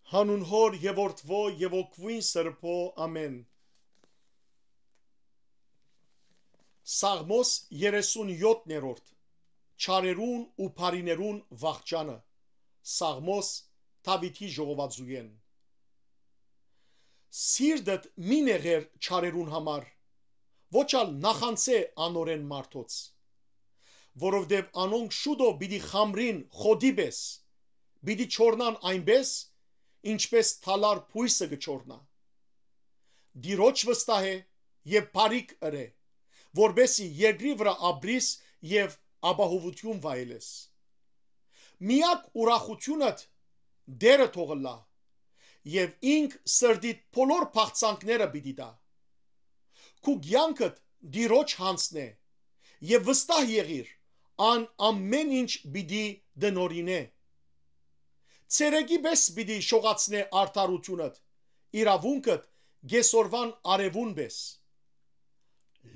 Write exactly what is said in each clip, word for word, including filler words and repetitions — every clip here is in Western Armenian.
Հանուն Հօր եւ Որդուոյ եւ Հոգւոյն Սրբոյ, ամէն։ Սաղմոս երեսուն յոթերորդ։ Չարերուն ու բարիներուն վախճանը։ Սաղմոս Դաւիթի ժողովածուէն։ Սիրտդ մի նեղեր չարերուն համար, ոչ ալ նախանձէ անորէն մարդոց, որովհետեւ անոնք շուտով պիտի խամրին խոտի պէս, պիտի չորնան այնպէս, ինչպէս թալար բոյսը կը չորնայ։ Տիրոջ վստահէ եւ բարիք ըրէ, որպէս զի երկրի վրայ ապրիս եւ ապահովութիւն վայելես։ Միակ ուրախութիւնդ Տէրը թող ըլլայ, եւ ինք սրտիդ բոլոր բաղձանքները պիտի տայ։ Քու կեանքդ Տիրոջ յանձնէ եւ վստահ եղիր, ան ամէն ինչ պիտի տնօրինէ։ Ցերեկի պէս պիտի շողացնէ արդարութիւնդ, իրաւունքդ՝ կէսօրուան արեւուն պէս։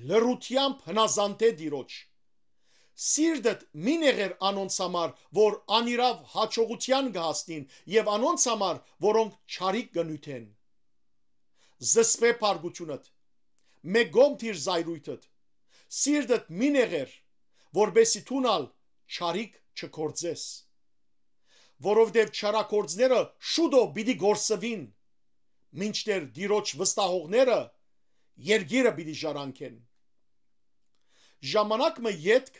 Լռութեամբ հնազանդէ Տիրոջ։ Սիրտդ մի նեղեր անոնց համար, որ անիրաւ յաջողութեան կը հասնին, եւ անոնց համար, որոնք չարիք կը նիւթեն։ Զսպէ փառկութիւնդ, մէկ կողմ դիր զայրոյթդ, սիրտդ մի նեղեր, որպէս զի դուն ալ չարիք չգործես։ Որովհետեւ չարագործները շուտով պիտի կորսուին, մինչդեռ Տիրոջ վստահողները երկիրը պիտի ժառանգեն։ Ժամանակ մը ետք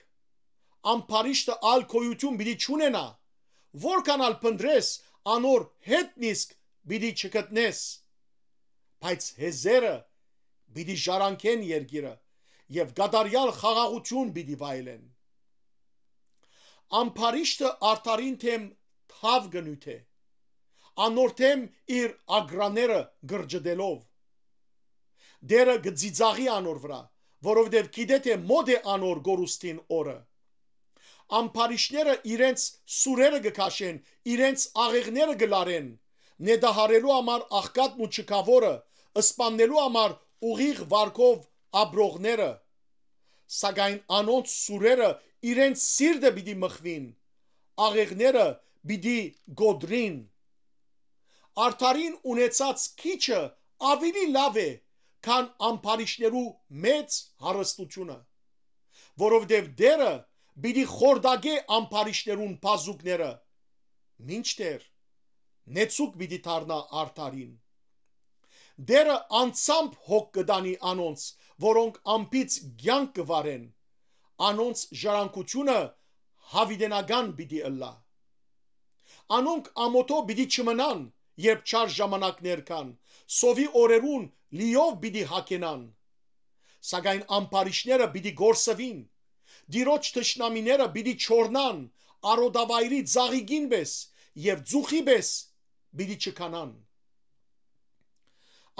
ամբարիշտը ալ գոյութիւն պիտի չունենայ, որքան ալ փնտռես, անոր հետ նիսկ պիտի չգտնես, բայց հեզերը պիտի ժառանգեն երկիրը եւ կատարեալ խաղաղութիւն պիտի վայելեն։ Ամբարիշտը արդարին դէմ թաւ կը նիւթէ, անոր դէմ իր ագռաները կրճտելով։ Տէրը կը ծիծաղի անոր վրայ, որովհետեւ գիտէ թէ մօտ է անոր կորուստին օրը։ Ամբարիշտները իրենց սուրերը կը քաշեն, իրենց աղեղները կը լարեն, նետահարելու համար աղքատն ու չքաւորը, սպաննելու համար ուղիղ վարկով ապրողները։ Սակայն անոնց սուրերը իրենց սիրտը պիտի մխուին, աղեղները պիտի կոտրին։ Արդարին ունեցած քիչը աւելի լաւ է, քան ամբարիշտներու մեծ հարստութիւնը, որովհետեւ Տէրը պիտի խորտակէ ամբարիշտներուն բազուկները, մինչդեռ նեցուկ պիտի դառնայ արդարին։ Տէրը անձամբ հոգ կը տանի անոնց, որոնք անբիծ կեանք կը վարեն, անոնց ժառանգութիւնը յաւիտենական պիտի ըլլայ։ Անոնք ամօթով պիտի չմնան, երբ չար ժամանակներ կան, սովի օրերուն լիով պիտի յագենան։ Սակայն ամբարիշտները պիտի կորսուին, Տիրոջ թշնամիները պիտի չորնան, արոտավայրի ծաղիկին պէս եւ ծուխի պէս պիտի չքանան։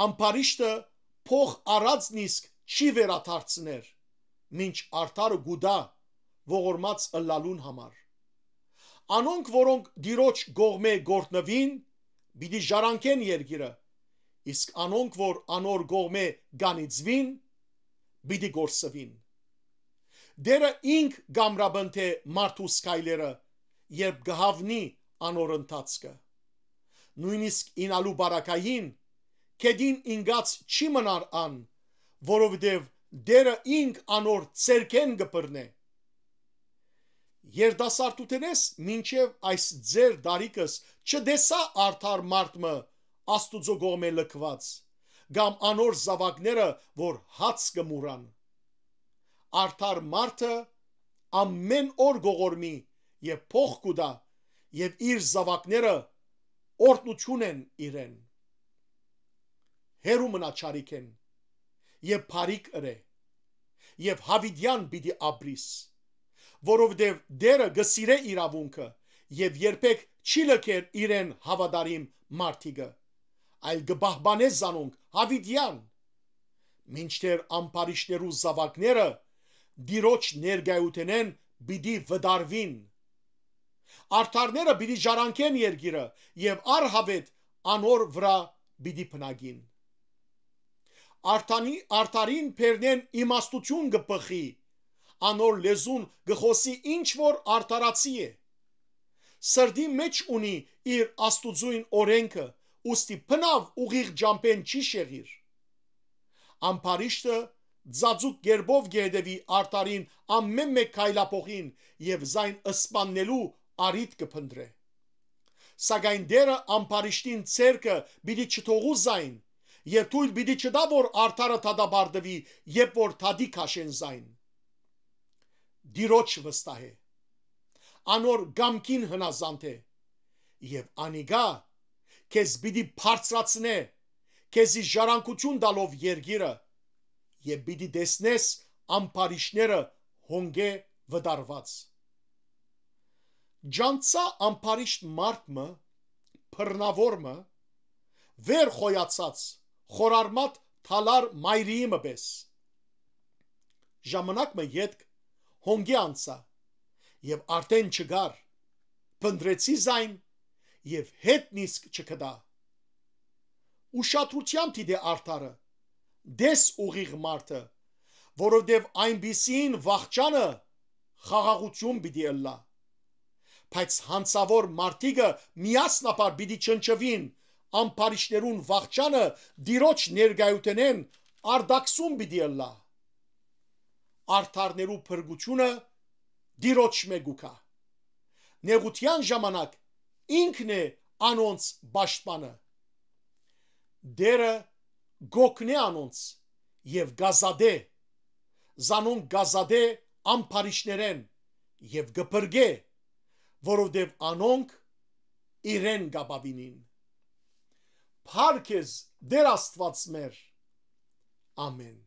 Ամբարիշտը փոխ առած նիսկ չի վերադարձներ, մինչ արդարը կու տայ ողորմած ըլլալուն համար։ Անոնք, որոնք Տիրոջ կողմէ կ'օրհնուին, պիտի ժառանգեն երկիրը, իսկ անոնք, որ անոր կողմէ կ'անիծուին, պիտի կորսուին։ Տէրը ինք կ'ամրապնդէ մարդուս քայլերը, երբ կը յաւնի անոր ընթացքը։ Նոյնիսկ ինալու բարակային գետին ինկած չի մնար ան, որովհետեւ Տէրը ինք անոր ձեռքէն կը բռնէ։ Երիտասարդութենէս մինչեւ այս ձեր տարիքս չտեսայ արդար մարդ մը Աստուծոյ կողմէ լքուած, կամ անոր զաւակները, որ հաց կը մուրան։ Արդար մարդը ամէն օր կ'ողորմի եւ փոխ կու տայ, եւ իր զաւակները օրհնութիւն են իրեն։ Հեռու մնա չարիքէն եւ բարիք ըրէ, եւ յաւիտեան պիտի ապրիս, որովհետեւ Տէրը կը սիրէ իրաւունքը եւ երբեք չի լքեր իրեն հաւատարիմ մարդիկը, այլ կը պահպանէ զանոնք յաւիտեան, մինչդեռ ամբարիշտներու զաւակները Տիրոջ ներկայութենէն պիտի վտարուին։ Արդարները պիտի ժառանգեն երկիրը եւ առհաւետ անոր վրայ պիտի բնակին։ Արդանի-, արդարին բերնէն իմաստութիւն կը բխի, անոր լեզուն կը խօսի ինչ որ արդարացի է։ Սրտի մէջ ունի իր Աստուծոյն օրէնքը, ուստի բնաւ ուղիղ ճամբէն չի շեղիր։ Ամբարիշտը ձաձուկ կերպով կը հետեւի արդարին ամէն մէկ քայլափոխին եւ զայն սպաննելու առիթ կը փնտռէ։ Սակայն Տէրը ամբարիշտին ձեռքը պիտի չթողու զայն եւ թոյլ պիտի չտայ, որ արդարը դատապարտուի, երբ որ դատի քաշեն զայն։ Տիրոջ վստահէ, անոր կամքին հնազանդ է, եւ անիկա քեզ պիտի բարձրացնէ, քեզի ժառանգութիւն տալով երկիրը, եւ պիտի տեսնես ամբարիշտները հոնկէ վտարուած։ Ճանչցայ ամբարիշտ մարդ մը, բռնաւոր մը, վեր խոյացած, խորարմատ թալար մայրիի մը պէս։ Ժամանակ մը ետք հոնկէ անցայ եւ արդէն չկար, փնտռեցի զայն եւ հետ նիսկ չգտայ։ Ուշադրութեամբ դիտէ արդարը, տես ուղիղ մարդը, որովհետեւ այնպիսին վախճանը խաղաղութիւն պիտի ըլլայ։ Բայց յանցաւոր մարդիկը միասնաբար պիտի չնչուին, ամբարիշտներուն վախճանը Տիրոջ ներկայութենէն արտաքսում պիտի ըլլայ։ Արդարներու փրկութիւնը Տիրոջմէ կու գայ։ Նեղութեան ժամանակ ինքն է անոնց պաշտպանը։ Տէրը կ'օգնէ անոնց եւ կ'ազատէ, զանոնք կ'ազատէ ամբարիշտներէն եւ կը փրկէ, որովհետեւ անոնք իրեն կ'ապաւինին։ Փառք քեզ, Տէր Աստուած մեր։ Ամէն։